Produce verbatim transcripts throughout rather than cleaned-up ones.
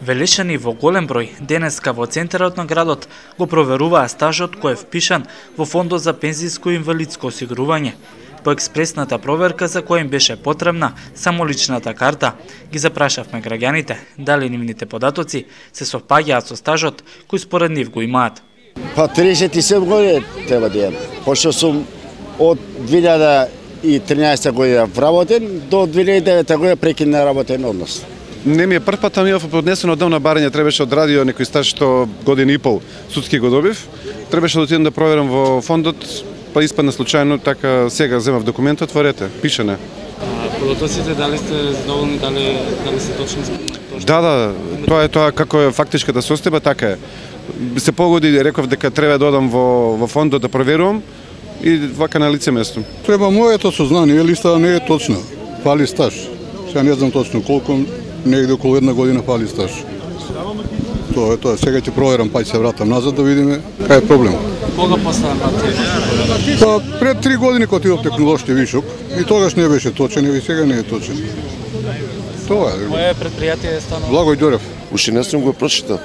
Велешани во голем број денеска во центарот на градот го проверуваа стажот кој е впишан во Фондот за пензиско и инвалидско осигурување. По експресната проверка за која им беше потребна само личната карта, ги запрашавме граѓаните дали нивните податоци се совпаѓаат со стажот кој според нив го имаат. Па триесет и седум години треба да имам, пошто сум од две илјади и тринаесета година вработен до две илјади и девета година прекина работен однос. Не ми е прв пат, ами поднесено одамна барање, требаше од радио некој стаж што година и пол судски го добив. Требаше да отидам да проверам во фондот, па испадна случајно, така сега земав документот, отворете, пишане. А податоците дали сте задоволни, дали дали се точни? Да, да, тоа е тоа како е фактичката состојба, така е. Се погоди, реков дека треба да одам во во фондот да проверувам и вака на лице место. Треба моето сознание, листа не е точна. Фали стаж. Сега не знам точно колку, негде околу една година фали стаж. Тоа е тоа. Сега ќе проверам, па ќе се вратам назад да видиме кај е проблем. Кога поставам пати? Па пред три години кога отидов технолошки вишок и тогаш не беше точен и сега не е точен. Тоа е. Кое предпријатие е станало? Благој Ѓорев. Уште не сум го прочитал.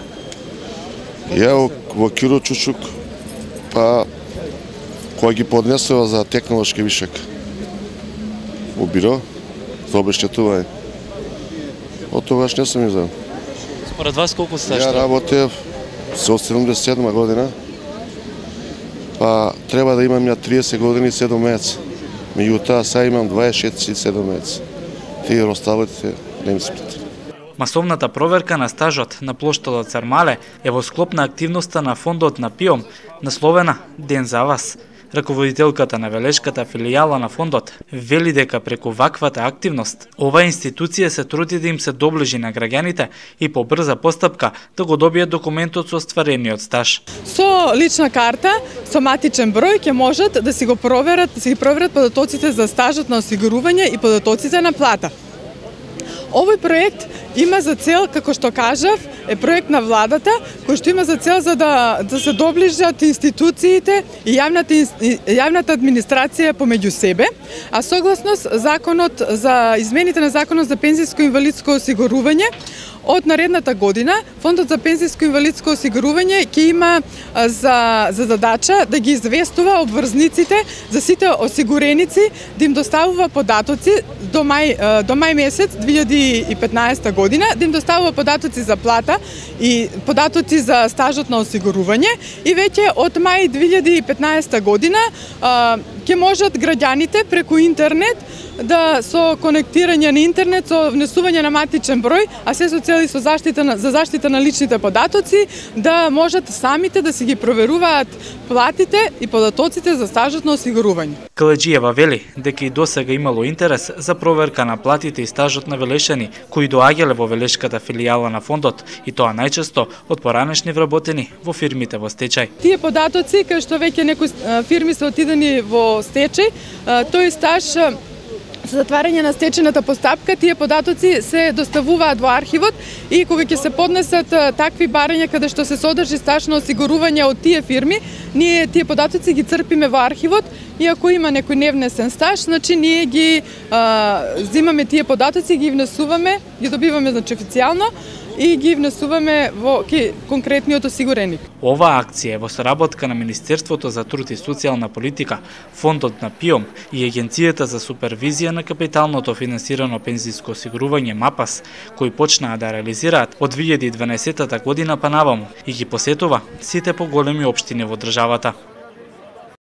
Ја во Киро Чучук, па која ги поднесува за технолошки вишок во биро за обештетување. Од тогаш не сум изел. Според вас колку стаж? Ја работев со седумдесет и седма година, па треба да имам ја триесет години и седум месеци. Меѓутоа сега имам дваесет и шест и седум месеци. Тие останатите не ми спит. Масовната проверка на стажот на плоштадот Цармале е во склоп на активноста на фондот на ПИОМ, насловена Ден за вас. Раководителката на Велешката филијала на фондот вели дека преку ваквата активност, оваа институција се труди да им се доближи на граѓаните и по брза постапка да го добијат документот со остварениот стаж. Со лична карта, со матичен број ќе можат да си го проверат, да си ги проверат податоците за стажот на осигурување и податоците на плата. Овој проект има за цел, како што кажав, е проект на владата, кој што има за цел за да, да се доближат институциите и јавната, јавната администрација помеѓу себе, а согласно законот за измените на законот за пензиско и инвалидско осигурување, од наредната година Фондот за пензиско и инвалидско осигурување ќе има за, за задача да ги известува обврзниците за сите осигуреници, да им доставува податоци до мај, до мај месец две илјади и петнаесета година, да им доставува податоци за плата и податоци за стажот на осигурување и веќе од мај две илјади и петнаесета година ќе можат граѓаните преку интернет да со конектирање на интернет, со внесување на матичен број, а се со цели со заштита на, за заштита на личните податоци, да можат самите да си ги проверуваат платите и податоците за стажот на осигурување. Каледжиева вели дека и досега имало интерес за проверка на платите и стажот на велешани кои доаѓале во Велешката филијала на фондот и тоа најчесто од поранешни вработени во фирмите во стечај. Тие податоци кај што веќе некои фирми се отидени во стечај, тој стаж за затварање на стечената постапка, тие податоци се доставуваат во архивот и кога ќе се поднесат такви барања каде што се содржи стаж на осигурување од тие фирми, ние тие податоци ги црпиме во архивот и ако има некој невнесен стаж, значи ние ги а, земаме тие податоци, ги внесуваме, ги добиваме значи официјално и ги внесуваме во ке, конкретниот осигуреник. Оваа акција е во соработка на Министерството за труд и социјална политика, Фондот на ПИОМ и Агенцијата за супервизија на капиталното финансирано пензиско осигурување МАПАС, кои почнаа да реализираат од две илјади и дванаесета година па наваму и ги посетува сите поголеми општини во државата.